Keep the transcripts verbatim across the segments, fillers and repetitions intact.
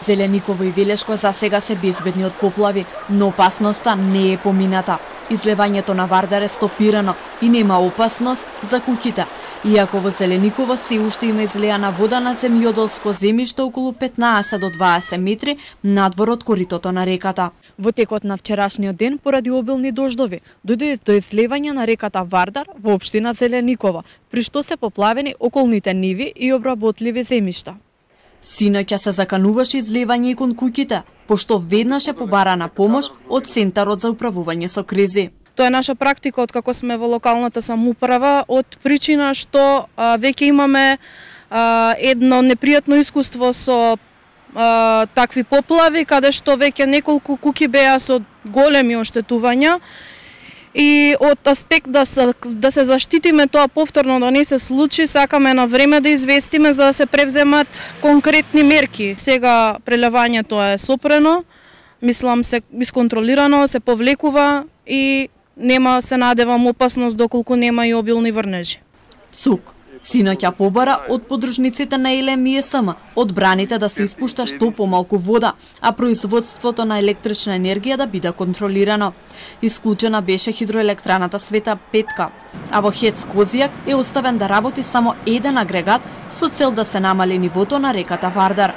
Зелениково и Велешко за сега се безбедни од поплави, но опасноста не е помината. Излевањето на Вардар е стопирано и нема опасност за куќите. Иако во Зелениково се уште има излеана вода на земјоделско земјиште околу петнаесет до дваесет метри надвор од коритото на реката. Во текот на вчерашниот ден, поради обилни дождови, дојде до излевање на реката Вардар во општина Зелениково, при што се поплавени околните ниви и обработливи земјишта. Синоќа се закануваше излевање и кон куќите, пошто веднаш е побарана помош од Центарот за управување со кризи. Тоа е наша практика од како сме во локалната самоуправа, од причина што а, веќе имаме а, едно непријатно искуство со а, такви поплави, каде што веќе неколку куќи беа со големи оштетувања. И од аспект да се, да се заштитиме тоа повторно да не се случи, сакаме на време да известиме за да се превземат конкретни мерки. Сега прелевањето е сопрено, мислам се исконтролирано, се повлекува и нема, се надевам, опасност доколку нема и обилни врнежи. Цук. Синоќа побара од подружниците на Елем и Ес Ем одбраните да се испушта што помалку вода, а производството на електрична енергија да биде контролирано. Исклучена беше хидроелектраната Света Петка, а во ХЕЦ Козијак е оставен да работи само еден агрегат со цел да се намали нивото на реката Вардар.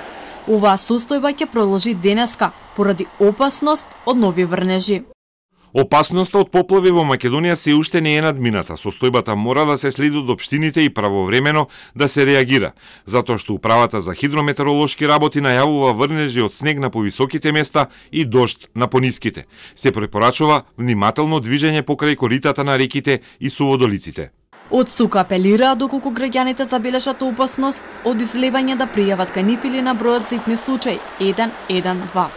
Оваа состојба ќе продолжи денеска поради опасност од нови врнежи. Опасноста од поплави во Македонија се уште не е надмината. Состојбата мора да се следи од општините и правовремено да се реагира, затоа што Управата за хидрометеоролошки работи најавува врнежи од снег на повисоките места и дожд на пониските. Се препорачува внимателно движење покрај коритата на реките и суводолиците. Од ЦУК апелира доколку граѓаните забележат опасност од излевање да пријават кај нив или на бројот за итни случај еден еден два.